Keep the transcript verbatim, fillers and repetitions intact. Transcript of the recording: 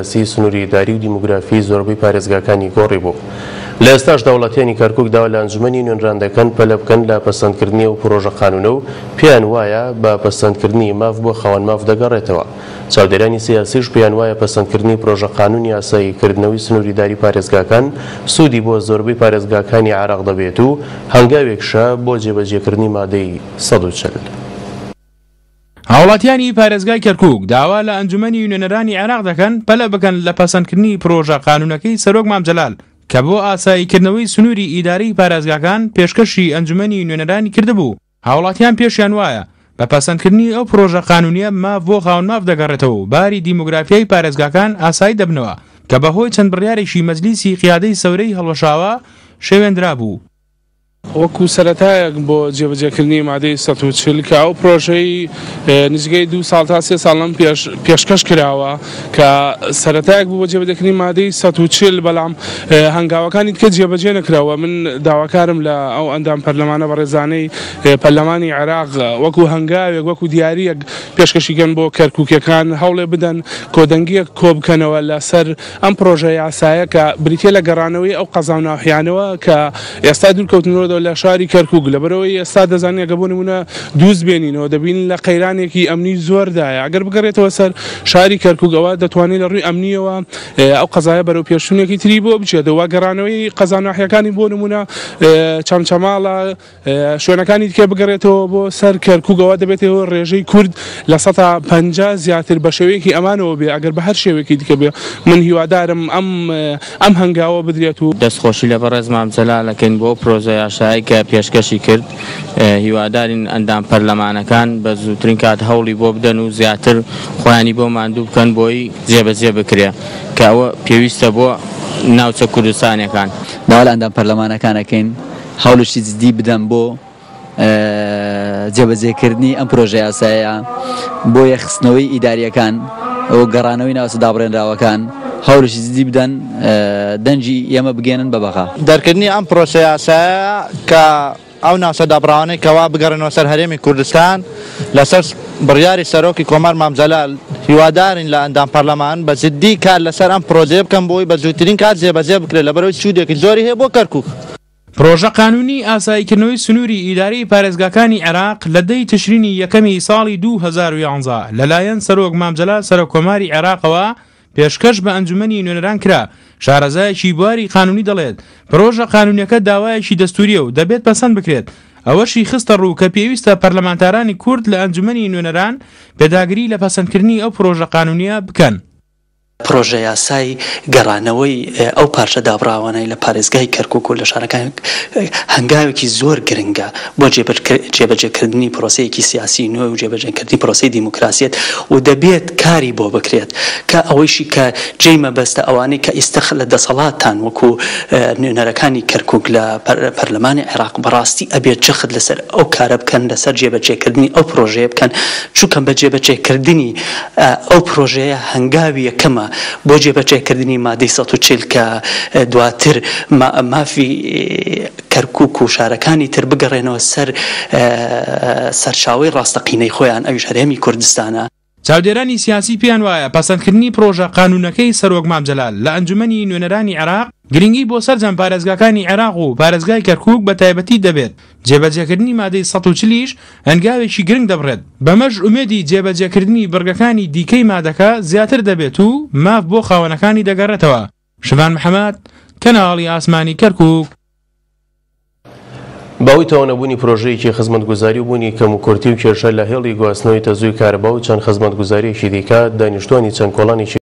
سیاسی، سنووری ئیداری و دیموگرافی زۆربەی پارێزگاکانی گۆڕی بوو. لە ئێستاشدا وڵاتیانی کەرکوک داوا لە ئەنجومەنی نوێنران دەکەن پەلە بکەن لە پەسەندکردنی ئەو پرۆژە قانونە و پێیان وایە بە پەسەندکردنی ماف بۆ خاوەن ماف دەگەڕێتەوە. چاودێرانی سیاسیش پێیان وایە پەسەندکردنی پرۆژە قانونی یاسایی کردنەوەی سنووری ئیداری پارێزگاکان سوودی بۆ زۆربەی پارێزگاکانی عێراق دەبێت و هەنگاوێکشە بۆ جێبەجێکردنی مادەی سەد و چل. هاوڵاتیانی پارێزگای کەرکوک داوا لە ئەنجومەنی نوێنەرانی عێراق دەکەن پەلە بکەن لە پەسەندکردنی پرۆژە قانونەکەی سەرۆک مام جەلال کە بۆ ئاساییکردنەوەی سنووری ئیداری پارێزگاکان پێشکەشی ئەنجومەنی نوێنەرانی کردبوو. هاوڵاتیان پێشیان وایە بە پەسەندکردنی ئەو پرۆژە قانونیە ماف بۆ خاوەن ماف دەگەڕێتەوە و باری دیموگرافیای پارێزگاکان ئاسایی دەبنەوە کە بەهۆی چەند بڕیارێکی مەجلیسی قیادەی سەورەی هەڵوەشاوە شێوێندرا بوو. وەکو سەرەتایەک بۆ جێبەجێکردنی مادەی سەد و چل کە ئەو پرۆژەی نزیکەی دوو ساڵ تا سێ ساڵ لەم پێشکەش کراوە کە سەرەتایەک بوو بۆ جێبەجێکردنی مادەی سەد و چل، بەڵام هەنگاوەکانی دیکە جێبەجێ نەکراوە. من داواکارم لە ئەو ئەندام پەرلەمانە بەڕێزانەی پەرلەمانی عێراق وەکو هەنگاوێک وەکو دیاریەک پێشکەشیکەن بۆ کەرکوکیەکان، هەوڵێ بدەن کۆدەنگیەک کۆ بکەنەوە لەسەر ئەم پرۆژە یاسایە کە بریتیە لە گەڕانەوەی ئەو قەزا و ناحیانەوە کە ئێستا دوورکەوتنەوە لە شاری کەرکوک. لەبەرەوەی ئێستا دەزانین ئەگەر بۆ نمونە دووز بێنینەوە دەبین لە قەیرانێکی ئەمنی زۆردایە. ئەگەر بگەڕێتەوە سەر شاری کەرکوک ئەوە دەتوانێت لە ڕووی ئەمنیەوە ئەو قەزایە بەرەو پێشچوونێکی تری بۆ بچێتەوە. گەڕانەوەی قەزا ناحیەکانی بۆ نمونە چەمچەماڵە شوێنەکانی دیکە بگەڕێتەوە بۆ سەر کەرکوکەوە دەبێتەوە ڕێژەی کورد لە سەدا پەنجا زیاتر بە شێوەیەکی ئەمانەوە بێ ئەگەر بە هەر شێوەیەکی دیکە بێ. من هیوادارم ئەم ئەم هەنگاوە بدرێت و دەستخۆشی لە بەڕێز مام جەلالەکەین بۆ پرۆژە یاسایی کە پێشکەشی کرد. هیوادارین ئەندام پەرلەمانەکان بە زووترین کات هەوڵی بۆ بدەن و زیاتر خۆیانی بۆ ماندوو بکەن بۆی جێبەجێ بکرێ کە ئەوە پێویستە بۆ ناوچە کوردستانیەکان. داوا لە ئەندام پەرلەمانەکانەکەین هەوڵێکی جدی بدەن بۆ جێبەجێکردنی ئەم پرۆژە یاسایە بۆ یەخستنەوەی ئیداریەکان و گەڕانەوەی ناوچە دابڕێنراوەکان، هەوڵێکی جدی بدەن دەنگی ئێمە بگەێنن بە بەغا. دەرکردنی ئەم پرۆژە یاسایە کە ئەو ناوچە دابڕاوانەی کەوا بگەڕێنەوە سەر هەرێمی کوردستان لەسەر بڕیاری سەرۆکی کۆمار مام جەلال، هیوادارین لە ئەندام پەرلەمان بە جدی کار لەسەر ئەم پرۆژەیە بکەن بۆی بە زووترین کات جێبەجێ بکرێت لەبەرەوەی سوودێکی زۆری هەیە بۆ کەرکوک. پرۆژە قانونی ئاساییکردنەوەی سنووری ئیداری پارێزگاکانی عێراق لە دەی تشرینی یەکەمی ساڵی دوو هەزار و یانزە لەلایەن سەرۆک مام جەلال سەرۆک کۆماری عێراقەوە پێشکەش بە ئەنجومەنی نوێنەران کرا. شارەزایەکی بواری قانونی دەڵێت پرۆژە قانونیەکە داوایەکی دەستوریە و دەبێت پەسەند بکرێت. ئەوەشی خستە ڕوو کە پێویستە پەرلەمانتارانی کورد لە ئەنجومەنی نوێنەران پێداگری لە پەسەندکردنی ئەو پرۆژە قانونیە بکەن. پرۆژە یاسای گەڕانەوەی ئەو پارچە دابڕاوانەی لە پارێزگای کەرکوک و لە شارەکان هەنگاوێکی زۆر گرنگە بۆ جێبەجێکردنی پرۆسەیەکی سیاسی نوێ و جێبەجێکردنی پرۆسەی دیموکراسیەت و دەبێت کاری بۆ بکرێت کە ئەوەیشی کە جێی مەبەستە ئەوانەی کە ئیستە لە دەسەڵاتتان وەکو نوێنەرەکانی کەرکوک لە پەرلەمانی عێراق بەڕاستی ئەبێت جەخت لەسەر ئەو کارە بکەن، لەسەر جێبەجێکردنی ئەو پرۆژەیە بکەن، چونکە بە جێبەجێکردنی ئەو پرۆژەیە هەنگاوی یەکەمە بۆ جێبەجێکردنی مادەی سەد و چل کە دواتر مافی کەرکوک و شارەکانی تر بگەڕێنەوە سەر سەرچاوەی ڕاستەقینەی خۆیان، ئەویش هەرێمی کوردستانە. چاودێرانی سیاسی پێیان وایە پەسەندکردنی پرۆژە قانونەکەی سەرۆک مام جەلال لە ئەنجومەنی نوێنەرانی عێراق گرنگی بۆ سەرجەم پارێزگاکانی عێراق و پارێزگای کەرکوک بە تایبەتی دەبێت. جێبەجێکردنی مادەی سەد و چلیش هەنگاوێکی گرنگ دەبڕێت، بەمەش ئومێدی جێبەجێکردنی بڕگەکانی دیکەی مادەکە زیاتر دەبێت و ماف بۆ خاوەنەکانی دەگەڕێتەوە. شڤان محەممەد، کەناڵی ئاسمانی کەرکوک. بەهۆی تەواو پرۆژەیەکی خزمەتگوزاری و بوونی کەموکورتی و کێشە لە هێڵی گواستنەوەی تەزووی کارەبا و چەند خزمەتگوزاریەکی دیکە، دانیشتوانی چەند کۆڵانێکی